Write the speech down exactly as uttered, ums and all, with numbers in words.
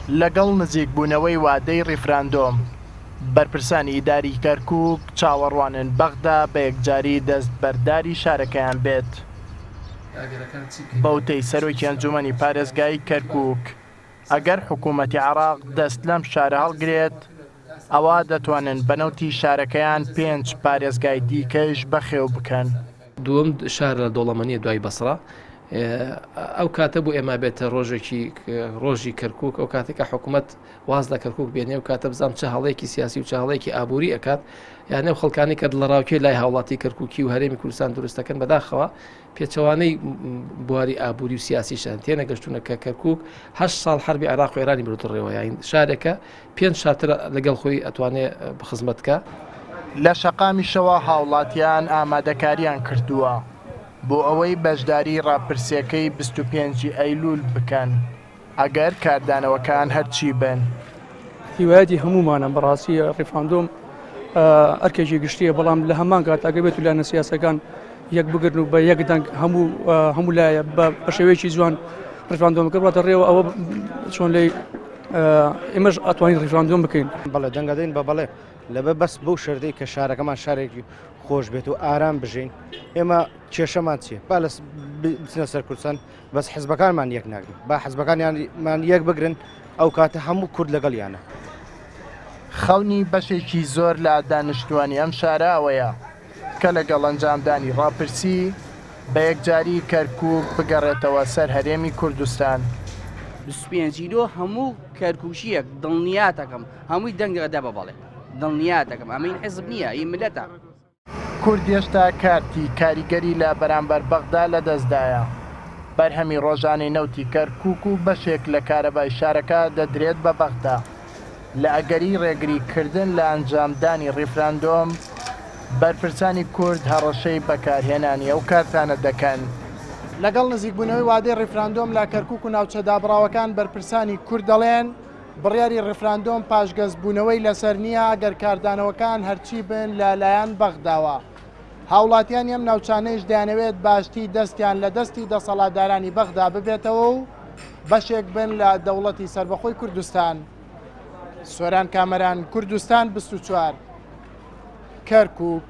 لەگەڵ نزیکبوونەوەی وادەی ڕیفراندۆم، بەرپرسانی ئیداری کەرکوک چاوەڕوانن بەغدا بە یەکجاری دەستبەرداری شارەکەیان بێت. بەوتەی سەرۆکی ئەنجومەنی پارێزگای کەرکوک، ئەگەر حکوومەتی عێراق دەست لەم شارە هەڵگرێت، ئەوە دەتوانن بە نەوتی شارەکەیان پێنج پارێزگای دیکەش بەخێو بکەن. دووەم شار لە دەوڵەمەنیە دوای بەسرە. ئەو کاتە بۆ ئێمە بێتە ڕۆژێکی ڕۆژی کەرکوک، ئەو کاتێک کە حکوومەت واز لە کەرکوک بێنێ و کاتە بزانام چه هەڵەیەکی سیاسی و چه هەڵەیەکی ئابووری ئەکات، یانە ئەو خەڵکانی کە دڵەڕاوکێ لای هاوڵاتی کەرکوکی و هەرێمی کوردستان دروستەکەن بەداخەوە پێچەوانەی بواری ئابووری و سیاسیشان تێنەگەشتونە کە کەرکوک هەشت ساڵ حربی عێراق و ئێرانی بردووەتە ڕێوە، یان شارێکە پێنج شاتر لەگەڵ خۆی ئەتوانێ بخزمەت بکە. لە شەقامیشەوە هاوڵاتیان ئامادەکاریان کردووە بۆ ئەوەی بەشداری ڕاپرسیەکەی بیست و پێنجی ئەیلول بکەن، ئەگەر کاردانەوەکان هەرچی بن. هیوایەتی هەمومانە بەڕاستی ڕیفراندۆم ئەرکێکی گشتیە، بەڵام لە هەمان کات ئەگەر بێت و لایەنە سیاسەکان یەک بگرن و بە یەک دەنگ هەموو هەموو لایە بە شێوەیەکی جوان ڕیفراندۆمەکە بڕاتە ڕێوە، ئەوە چۆن لێی ئێمەش ئەتوانین ڕیفراندۆم بکەین. بەڵێ دەنگەدەین بە بەڵێ، لەبەر بەس بەو شەردەی کە شارەکەمان شارێکی خۆش بێت و ئارام بژین. ئێمە کێشەمان چییە؟ با لە بچنە سەر کوردستان، بەس حزبەکانمان یەک ناگرن، با حزبەکانیانمان یەک بگرن، ئەو کاتە هەموو کورد لەگەڵیانە. خەونی بەشێکی زۆر لە دانیشتوانی ئەم شارە ئەوەیە کە لەگەڵ ئەنجامدانی ڕاپرسی بە یەکجاری کەرکوک بگەڕێتەوە سەر هەرێمی کوردستان. بیست و پێنج لۆ هەموو کەرکوکیەک دڵنیاتەکەم هەمووی دەنگەدا بە بەڵێ، دڵنیاتەکەم ئەمە این حزب نییە، این ملەتە. کورد هێشتا کارتی کاریگەری لە بەرامبەر بەغدا لەدەستدایە. بەرهەمی ڕۆژانەی نەوتی کەرکوک و بەشێک لە کارەبای شارەکە دەدرێت بە بەغدا. لە ئەگەری ڕێگریکردن لە ئەنجامدانی ڕیفراندۆم، بەرپرسانی کورد هەڕەشەی بەکارهێنانی ئەو کارتانە دەکەن. لەگەڵ نزیکبوونەوەی وادەی ڕیفراندۆم لە کەرکوک و ناوچە دابڕاوەکان، بەرپرسانی کورد دەڵێن بڕیاری ڕیفراندۆم پاشگەزبوونەوەی لەسەر نییە ئەگەر کاردانەوەکان هەرچی بن لەلایەن بەغداوە. هاوڵاتیانی ئەم ناوچانەیش دەیانەوێت باشتی دەستیان لە دەستی دەسەڵاتدارانی بەغدا ببێتەوە و بەشێک بن لە دەوڵەتی سەربەخۆی کوردستان. سۆران کامەران، کوردستان بیست و چوار، کەرکوک.